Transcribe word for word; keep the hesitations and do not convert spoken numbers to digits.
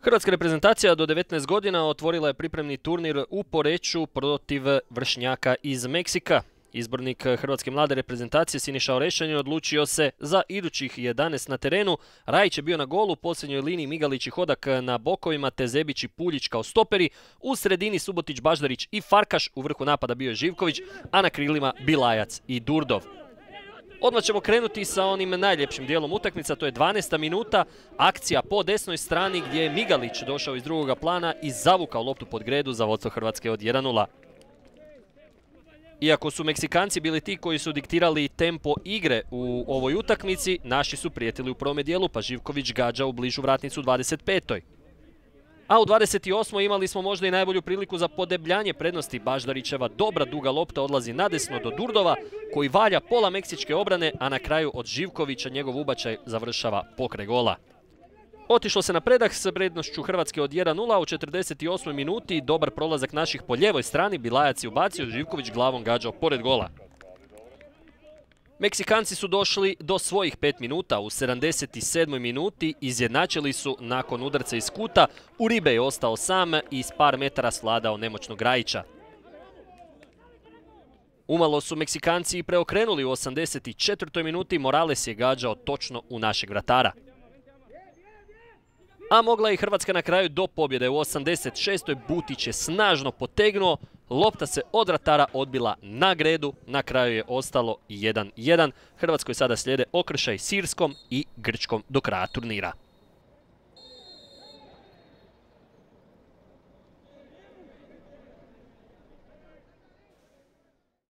Hrvatska reprezentacija do devetnaest godina otvorila je pripremni turnir u Poreču protiv vršnjaka iz Meksika. Izbornik hrvatske mlade reprezentacije Siniša Orešćanin odlučio se za idućih jedanaest na terenu. Rajić je bio na golu, u posljednjoj liniji Migalić i Hodak na bokovima, te Zebić i Puljić kao stoperi. U sredini Subotić, Baždarić i Farkaš, u vrhu napada bio je Živković, a na krilima Bilajac i Durdov. Odmah ćemo krenuti sa onim najljepšim dijelom utakmica, to je dvanaesta minuta, akcija po desnoj strani gdje je Migalić došao iz drugoga plana i zavukao loptu pod gredu za vodstvo Hrvatske od jedan nula. Iako su Meksikanci bili ti koji su diktirali tempo igre u ovoj utakmici, naši su prijetili u prvome dijelu, pa Živković gađa u bližu vratnicu u dvadeset petoj. A u dvadeset osmoj imali smo možda i najbolju priliku za podebljanje prednosti. Baždarićeva dobra duga lopta odlazi nadesno do Durdova, koji valja pola meksičke obrane, a na kraju od Živkovića njegov ubačaj završava pokraj gola. Otišlo se na predah s prednošću Hrvatske od jedan nula u četrdeset osmoj minuti. Dobar prolazak naših po ljevoj strani, Bilajac je ubacio, Živković glavom gađao pored gola. Meksikanci su došli do svojih pet minuta. U sedamdeset sedmoj minuti izjednačili su nakon udarca iz kuta. Uribe je ostao sam i s par metara svladao nemoćnog Rajića. Umalo su Meksikanci i preokrenuli u osamdeset četvrtoj minuti. Morales je gađao točno u našeg vratara. A mogla je i Hrvatska na kraju do pobjede. U osamdeset šestoj Butić je snažno potegnuo, lopta se od vratara odbila na gredu, na kraju je ostalo jedan jedan. Hrvatskoj sada slijede okršaj s Irskom i Grčkom do kraja turnira.